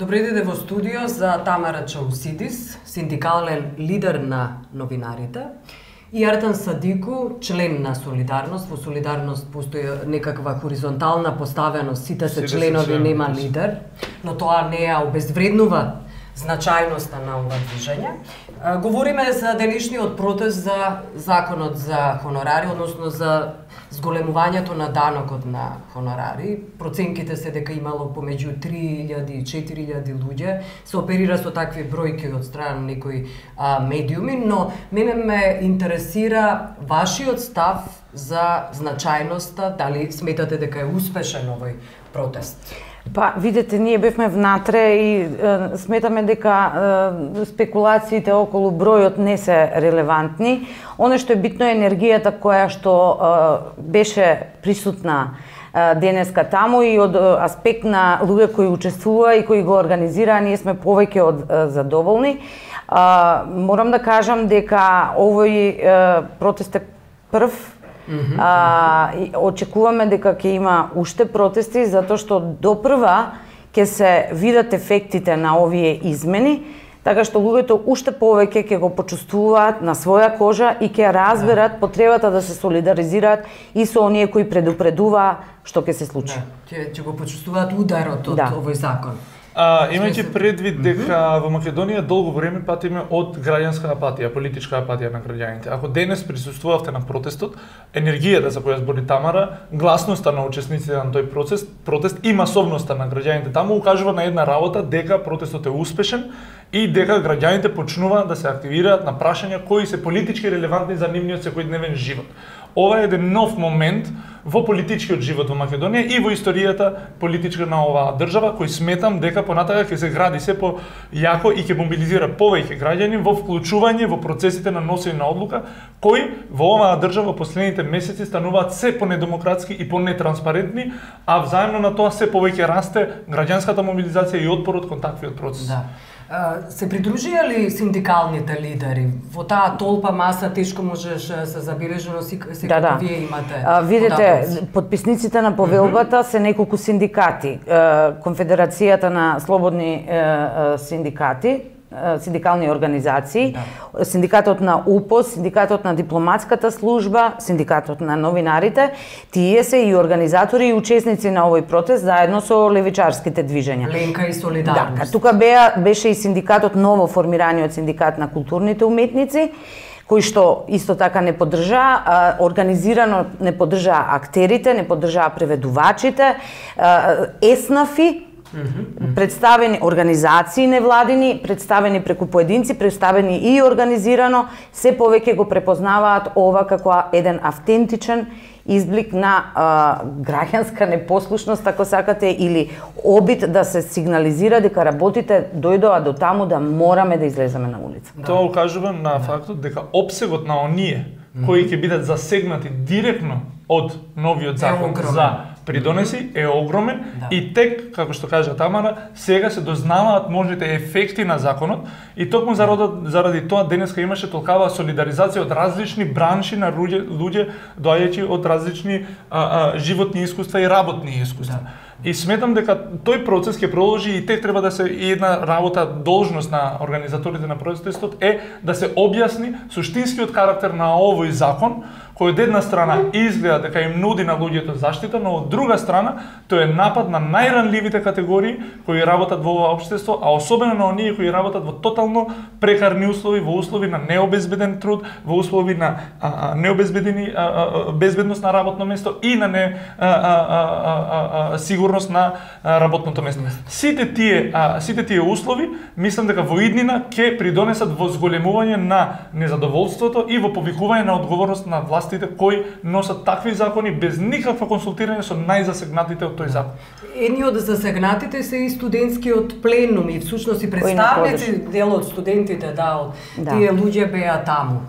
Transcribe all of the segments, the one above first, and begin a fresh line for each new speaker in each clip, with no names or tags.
Добре дојде во студио за Тамара Чаусидис, синдикален лидер на новинарите, и Артан Садику, член на Солидарност. Во Солидарност постои некаква хоризонтална поставеност, сите се членови, нема лидер, но тоа не ја обезвреднува значајноста на ова движење. Говориме за денешниот протест за законот за хонорари, односно за зголемувањето на данокот на хонорари. Проценките се дека имало помеѓу 3000 и 4000 луѓе. Се оперира со такви бројки од страна на некои медиуми, но мене ме интересира вашиот став за значајноста, дали сметате дека е успешен овој протест?
Па, видете, ние бевме внатре и сметаме дека спекулациите околу бројот не се релевантни. Оно што е битно е енергијата која што беше присутна денеска таму и од аспект на луѓе кои учествува и кои го организираа, ние сме повеќе од задоволни. Морам да кажам дека овој протест е прв. Очекуваме дека ќе има уште протести, затоа што допрва ќе се видат ефектите на овие измени, така што луѓето уште повеќе ќе го почувствуваат на своја кожа и ќе разберат потребата да се солидаризираат и со оние кои предупредуваа што ќе се случи.
Ќе го почувствуваат ударот од овој закон.
Имајќи предвид дека во Македонија долго време патиме од граѓанска апатија, политичка апатија на граѓаните. Ако денес присуствувавте на протестот, енергијата за која збори Тамара, гласноста на учесниците на тој протест и масовноста на граѓаните таму укажува на една работа дека протестот е успешен и дека граѓаните почнуваат да се активираат на прашања кои се политички релевантни за нивниот секојдневен живот. Ова е еден нов момент во политичкиот живот во Македонија и во историјата политичка на оваа држава, кој сметам дека понатака ќе се гради се појако и ќе мобилизира повеќе граѓани во вклучување во процесите на носење на одлука, кои во оваа држава последните месеци стануваат се понедемократски и понетранспарентни, а взаемно на тоа се повеќе расте граѓанската мобилизација и отпорот кон таквиот процес.
Да. Се придружија ли синдикалните лидери? Во таа толпа маса тешко можеш се забележи, но секако вие имате
видите, подписниците на повелбата се неколку синдикати. Конфедерацијата на слободни синдикати, синдикални организации, синдикатот на УПОС, синдикатот на дипломатската служба, синдикатот на новинарите, тие се и организатори и учесници на овој протест заедно со левичарските движења.
Ленка и Солидарност.
Да, тука беше и синдикатот, ново формираниот синдикат на културните уметници, кој што исто така не поддржаа, организирано не поддржаа актерите, не поддржаа преведувачите, еснафи, представени организации невладини, представени преку поединци, представени и организирано, се повеќе го препознаваат ова како еден автентичен изблик на граѓанска непослушност, ако сакате, или обид да се сигнализира дека работите дојдоа до таму да мораме да излеземе на улица.
Тоа укажува на фактот дека опсегот на оние кои ќе бидат засегнати директно од новиот закон за придонеси е огромен и тек, како што кажа Тамара, сега се дознаваат можните ефекти на законот и токму заради тоа денеска имаше толкава солидаризација од различни бранши на луѓе доаѓајќи од различни животни искуства и работни искуства. И сметам дека тој процес ќе продолжи и тек треба да се и една работа, должност на организаторите на протестот е да се објасни суштинскиот карактер на овој закон, кој од една страна изгледа дека им нуди на луѓето заштита, но од друга страна тој е напад на најранливите категории кои работат во ова општество, а особено на оние кои работат во тотално прекарни услови, во услови на необезбеден труд, во услови на необезбедени безбедност на работно место и на сигурност на работното место. Сите тие услови, мислам дека во иднина ќе придонесат во зголемување на незадоволството и во повикување на одговорност на властите кои носат такви закони без никакво консултирање со најзасегнатите од тој закон.
Едни од засегнатите се и студентскиот пленум и всушност и представници дел од студентите, тие луѓе беа таму.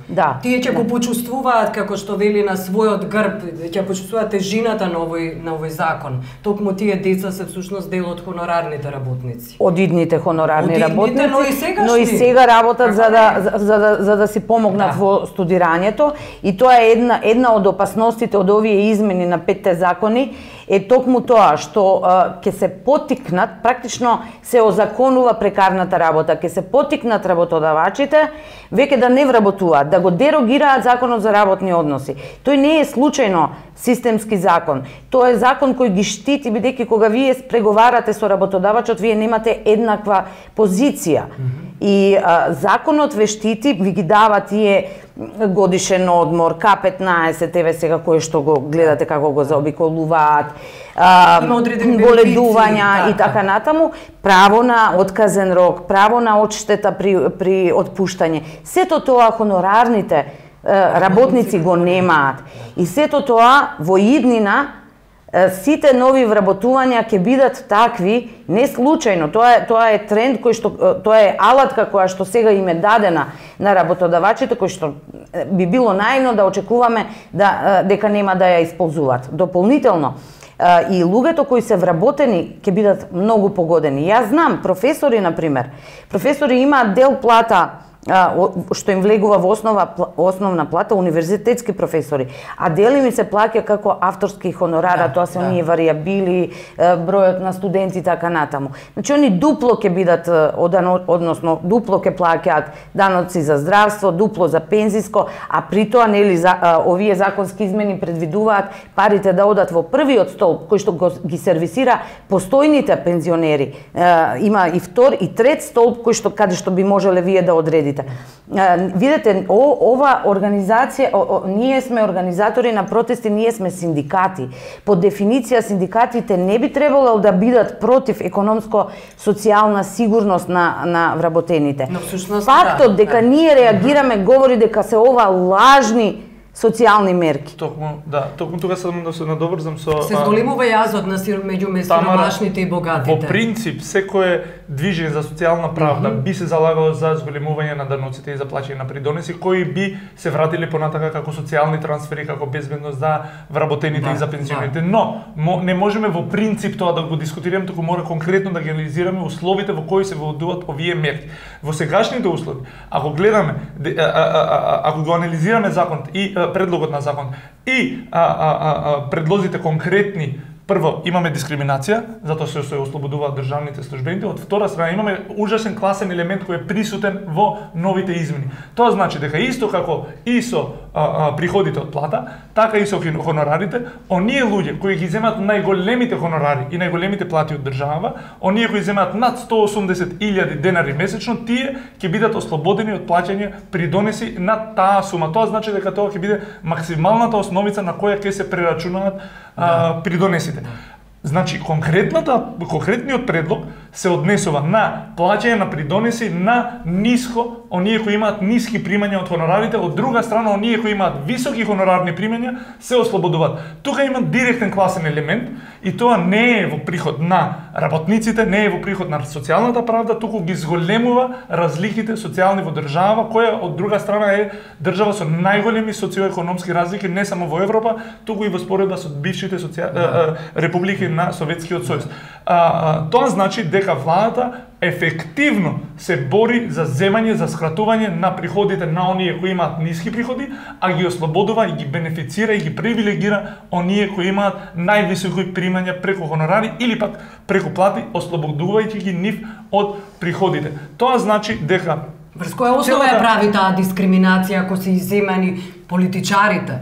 Тие ќе го почувствуваат, како што вели, на својот грб, ќе почувствуваат тежината на овој закон. Токму тие деца се всушност дел од хонорарните работници.
Од идните хонорарни работници, но и сега работат за да си помогнат во студирањето, и тоа е една од опасностите од овие измени на 5 закони е токму тоа што ќе се поттикнат, практично се озаконува прекарната работа, ќе се поттикнат работодавачите веќе да не вработуваат, да го дерогираат законот за работни односи. Тој не е случајно системски закон. Тоа е закон кој ги штити, бидејќи кога вие преговарате со работодавачот, вие немате еднаква позиција. И законот ве штити, ви ги дава тие годишен одмор, К15, еве сега кој што го гледате како го заобиколуваат, боледувања и така натаму, право на отказен рок, право на одштета при отпуштање. Сето тоа хонорарните работници го немаат. И сето тоа во иднина сите нови вработувања ќе бидат такви, не случајно. Тоа е тренд кој што тоа е алатка која што сега им е дадена на работодавачите, кој што би било наивно да очекуваме дека нема да ја исползуваат. Дополнително и луѓето кои се вработени ќе бидат многу погодени. Јас знам професори на пример. Професори имаат дел плата што им влегува во основна плата, универзитетски професори, а дели ми се плаќа како авторски хонорара, тоа се оние варијабили, бројот на студенти и така натаму. Значи они дупло ќе бидат, односно дупло ќе плаќаат даноци за здравство, дупло за пензиско, а при тоа нели овие законски измени предвидуваат парите да одат во првиот столб кој што ги сервисира постојните пензионери. Има и втор и трет столб кој што каде што би можеле вие да одредите. Видете, ова организација, ние сме организатори на протести, ние сме синдикати. По дефиниција синдикатите не би требало да бидат против економско-социјална сигурност на вработените. Фактот дека ние реагираме говори дека се ова лажни социјални мерки.
Токму тука само да се надоврзам со
се зголемува јазот меѓу сиромашните и богатите.
Во принцип, секое движење за социјална правда би се залагало за зголемување на даноците и за плаќање на придонеси, кои би се вратили понатака како социјални трансфери, како безбедност за вработените и за пензионерите. Но не можеме во принцип тоа да го дискутираме, туку мора конкретно да ги анализираме условите во кои се воведуваат овие мерки. Во сегашните услови, ако гледаме, ако го анализираме законот и предлогот на закон и предлозите конкретни, прво имаме дискриминација, затоа што се ослободуваат државните службеници, од втора страна имаме ужасен класен елемент кој е присутен во новите измени. Тоа значи дека исто како и со приходите од плата, така и со хонорарите, оние луѓе кои ги земат најголемите хонорари и најголемите плати од држава, оние кои земат над 180.000 денари месечно, тие ќе бидат ослободени од плаќање придонеси на таа сума. Тоа значи дека тоа ќе биде максималната основица на која ќе се прерачунаат придонесите. Значи, конкретниот предлог се однесува на плаќање на придонеси на ниско, оние кои имаат ниски примања од хонорарите, од друга страна, оние кои имаат високи хонорарни примања се ослободуваат. Тука има директен класен елемент и тоа не е во приход на работниците, не е во приход на социјалната правда, туку ги зголемува разликите социјални во држава, која од друга страна е држава со најголеми социоекономски разлики не само во Европа, туку и во споредба со бившите републики на Советскиот сојуз. Тоа значи дека владата ефективно се бори за земање, за скратување на приходите на оние кои имаат ниски приходи, а ги ослободува и ги бенефицира и ги привилегира оние кои имаат највисоки примања преку хонорари или пак преку плати, ослободувајќи ги нив од приходите. Тоа значи дека
врз која основа ја прави таа дискриминација ако се иземани политичарите,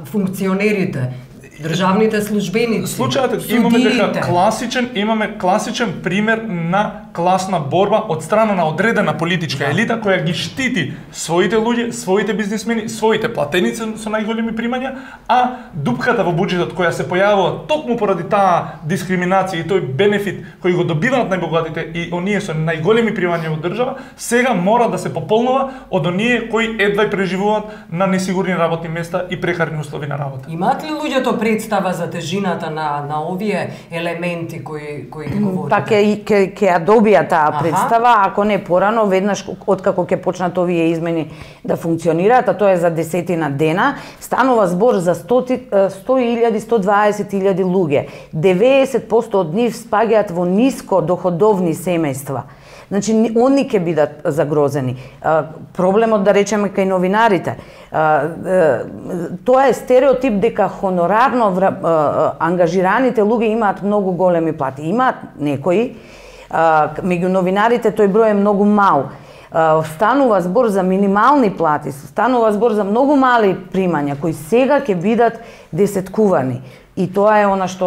функционерите, државните службеници,
случајот имаме дека имаме класичен пример на класна борба од страна на одредена политичка елита која ги штити своите луѓе, своите бизнисмени, своите платеници со најголеми примања, а дупката во буџетот која се појавува токму поради таа дискриминација и тој бенефит кој го добиваат најбогатите и оние со најголеми примања во држава, сега мора да се пополнува од оние кои едва преживуваат на несигурни работни места и прекарни услови на работа.
Имаат ли луѓето представа за тежината на овие елементи кои ги говорите?
Па ќе ја добија таа представа, ако не порано, веднаш откако ќе почнат овие измени да функционираат, а тоа е за 10 дена, станува збор за 100.000, 120.000 луѓе. 90% од нив спаѓаат во ниско доходовни семејства. Значи, они ќе бидат загрозени. Проблемот, да речеме, кај новинарите. Тоа е стереотип дека хонорарно ангажираните луѓе имаат многу големи плати. Имаат некои, меѓу новинарите тој број е многу мал. Станува збор за минимални плати, станува збор за многу мали примања кои сега ќе бидат десеткувани. И тоа е она што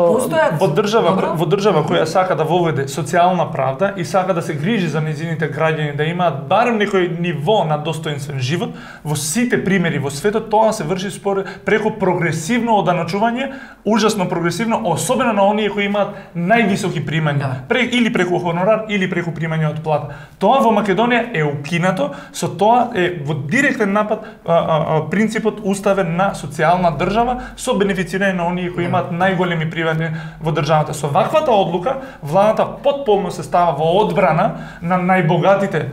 во држава која сака да воведе социјална правда и сака да се грижи за нејзините граѓани, да имаат барем некој ниво на достоинствен живот, во сите примери во светот тоа се врши преку прогресивно оданачување, ужасно прогресивно, особено на оние кои имаат највисоки примања, или преку хонорар или преку примање од плата. Тоа во Македонија е укинато, со тоа е во директен напад принципот уставен на социјална држава со бенефицирање на оние кои имаат најголеми примања во државата. Со ваквата одлука, владата потполно се става во одбрана на најбогатите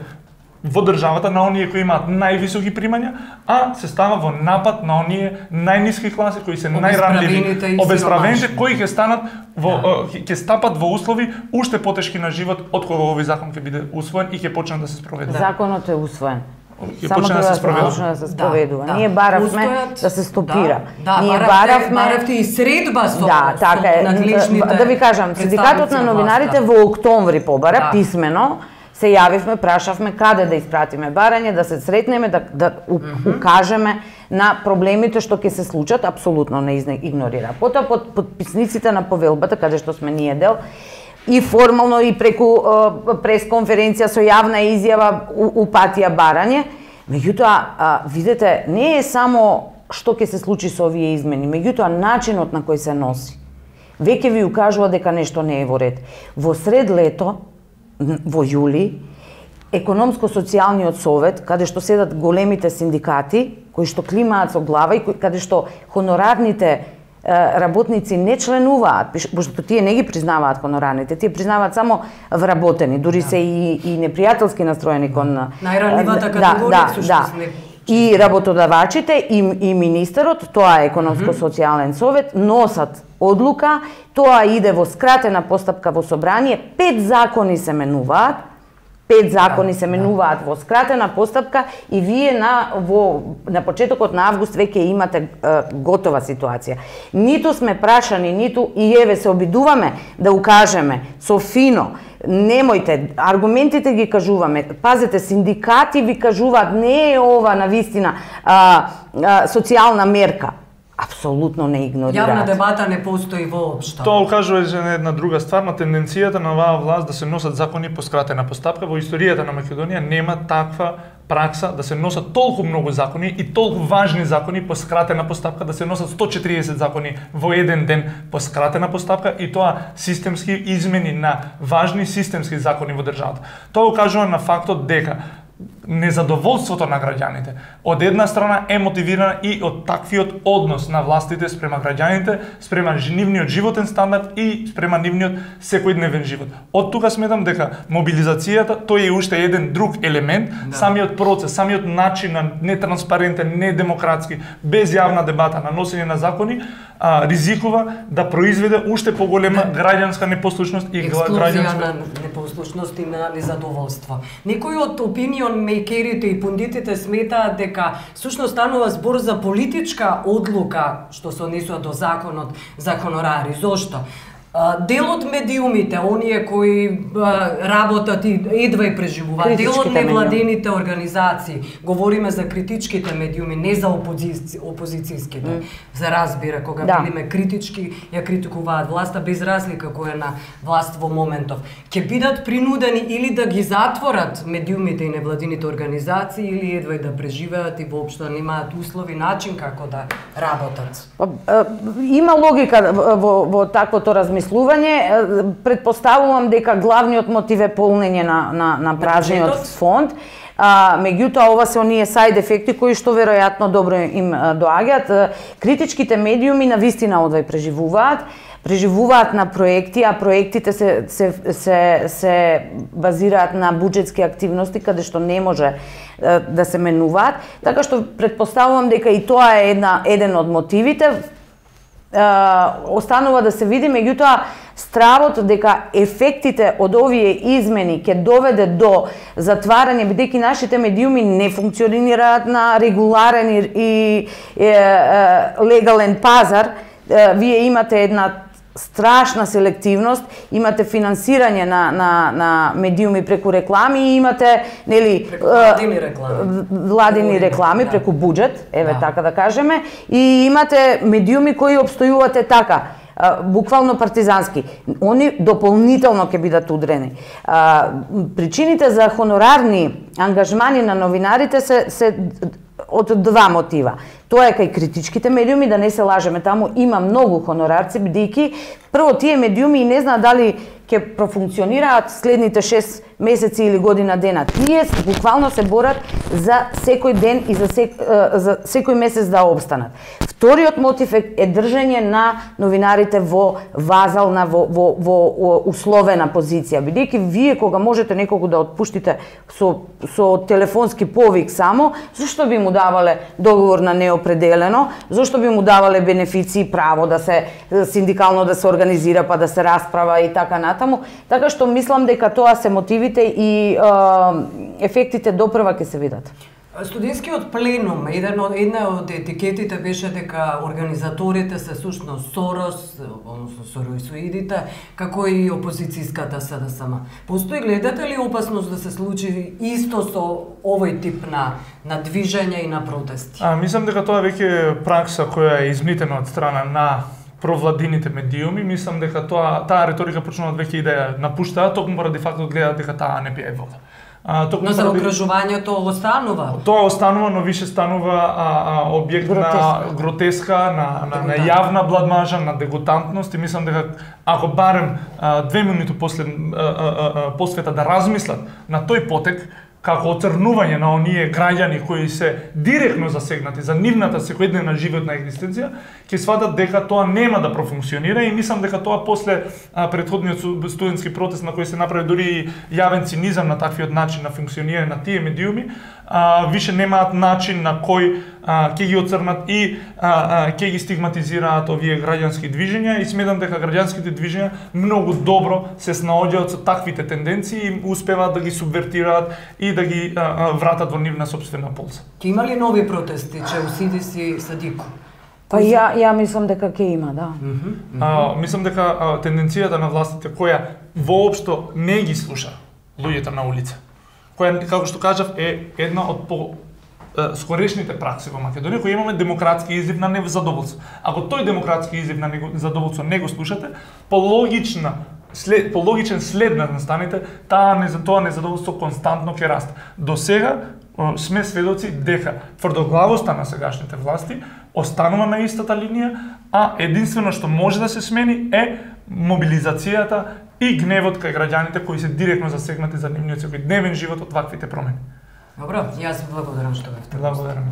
во државата, на оние кои имаат највисоки примања, а се става во напад на оние најниски класи кои се најранливи, обесправените, кои ќе станат ќе стапат во услови уште потешки на живот од кога овој закон ќе биде усвоен и ќе почне да се спроведува.
Законот е усвоен. Само треба да се спроведува. Ние баравме да се стопира.
Ние баравте и средба со надлежните.
Да ви кажам, синдикатот на новинарите во октомври побара писмено, се јавивме, прашавме каде да испратиме барање, да се сретнеме, да укажеме на проблемите што ќе се случат, апсолутно не игнорира. Потоа подписниците на повелбата, каде што сме ние дел, и формално и преку пресконференција со јавна изјава упатија барање. Меѓутоа, видете, не е само што ќе се случи со овие измени, меѓутоа начинот на кој се носи. Веќе ви укажува дека нешто не е во ред. Во сред лето, во јули, Економско-социјалниот совет, каде што седат големите синдикати, кои што климаат со глава и каде што хонорарните работници не членуваат, пошто тие не ги признаваат хонорарните, тие признаваат само вработени, дури се и непријателски настроени кон
најранливата категорија.
И работодавачите и министерот, тоа е Економско-социјален совет, носат одлука, тоа иде во скратена постапка во собрание, 5 закони се менуваат, 5 закони се менуваат во скратена постапка и вие на почетокот на август веќе имате готова ситуација. Ниту сме прашани, ниту и еве се обидуваме да укажеме со фино, немојте, аргументите ги кажуваме, пазете, синдикати ви кажуваат, не е ова навистина социјална мерка. Апсолутно не игнорираат.
Јавна дебата не постои воопшто.
Тоа укажува на една друга ствар, на тенденцијата на оваа власт да се носат закони по скратена постапка. Во историјата на Македонија нема таква пракса да се носат толку многу закони и толку важни закони по скратена постапка, да се носат 140 закони во еден ден по скратена постапка и тоа системски измени на важни системски закони во државата. Тоа укажува на фактот дека незадоволството на граѓаните од една страна е мотивирана и од таквиот однос на властите спрема граѓаните, спрема нивниот животен стандард и спрема нивниот секојдневен живот. Од тука сметам дека мобилизацијата тој е уште еден друг елемент, самиот процес, самиот начин на нетранспарентен, недемократски, без јавна дебата на носење на закони, ризикува да произведе уште поголема граѓанска непослушност и
граѓанска непослушност и на незадоволство. Некои од опинион мејкерите и пундитите сметаат дека всушност станува збор за политичка одлука што се однесува до законот за хонорари. Зошто? Дел од медиумите, оние кои работат и едва и преживуваат, дел од невладените организации, говориме за критичките медиуми, не за опозицијските, за разбира, кога бидеме критички, ја критикуваат власта без разлика која е на власт во моментов. Ќе бидат принудени или да ги затворат медиумите и невладените организации, или едва и да преживеат и воопшто немаат услови, начин како да работат.
Има логика во таквото размислување. Предпоставувам дека главниот мотив е полнење на празниот фонд. Меѓутоа, ова се оние сайд ефекти кои што веројатно добро им доаѓаат. Критичките медиуми навистина одвај преживуваат на проекти, а проектите се базираат на буџетски активности каде што не може да се менуваат. Така што предпоставувам дека и тоа е еден од мотивите. останува да се види, меѓутоа стравот дека ефектите од овие измени ќе доведе до затварање, бидејќи нашите медиуми не функционираат на регуларен и легален пазар. Вие имате една страшна селективност, имате финансирање на медиуми преку реклами и имате, нели, владини реклами преку буџет, така да кажеме, и имате медиуми кои обстојувате така, буквално партизански. Они дополнително ќе бидат удрени. Причините за хонорарни ангажмани на новинарите се од два мотива. Тоа е кај критичките медиуми, да не се лажеме, таму има многу хонорарци, бидејќи прво тие медиуми и не знаат дали ќе профункционираат следните 6 месеци или година дена. Тие буквално се борат за секој ден и за секој месец да обстанат. Вториот мотив е држање на новинарите во вазална, во условена позиција. Бидејќи вие кога можете некого да отпуштите со телефонски повик само, зашто би му давале договор на неопределено, зашто би му давале бенефиции, право да се синдикално да се организира, па да се расправа и така натаму. Така што мислам дека тоа се мотивите и ефектите допрва ќе се видат.
Студентскиот пленум, една од етикетите беше дека организаторите се сушност Сорос, односно соросоидите, како и опозицијската СДСМ. Постои, гледате ли опасност да се случи исто со овој тип на движење и на протести?
Мислам дека тоа веќе е пракса која е измитена од страна на провладините медиуми. Мислам дека таа реторика почнуваат веќе и да ја напуштаат, токму поради фактот гледаат дека таа не пие вода.
Но за окружувањето останува?
Тоа останува, но више станува објект на гротеска, на јавна бладмажа, на дегутантност, и мислам дека ако барем 2 минути после посвета да размислат на тој потек, како оцрнување на оние граѓани кои се директно засегнати за нивната секојдневна животна екзистенција, ќе сватат дека тоа нема да профункционира, и мислам дека тоа после претходниот студентски протест на кој се направи дури и јавен цинизам на таквиот начин на функционирање на тие медиуми, више немаат начин на кој ќе ги оцрнат и ќе ги стигматизираат овие граѓански движења, и сметам дека граѓанските движења многу добро се снаоѓаат со таквите тенденции и успеваат да ги субвертираат и да ги вратат во нивна сопствена полза.
Ќе има ли нови протести, СДС и СДИКУ?
Па ја мислам дека ќе има, да.
Мислам дека тенденцијата на властите која воопшто не ги слуша луѓето на улица, која, како што кажав, е една од скорешните пракси во Македонија, која имаме демократски излив на незадоволство. Ако тој демократски излив на незадоволство не го слушате, по логичен след на настаните, тоа незадоволство константно ќе расте. До сега сме сведоци дека тврдоглавоста на сегашните власти останува на истата линија, а единствено што може да се смени е мобилизацијата и гневот кај граѓаните кои се директно засегнати за нивниот секојдневен живот од ваквите промени.
Добро, јас благодарам што бевте.
Благодарам.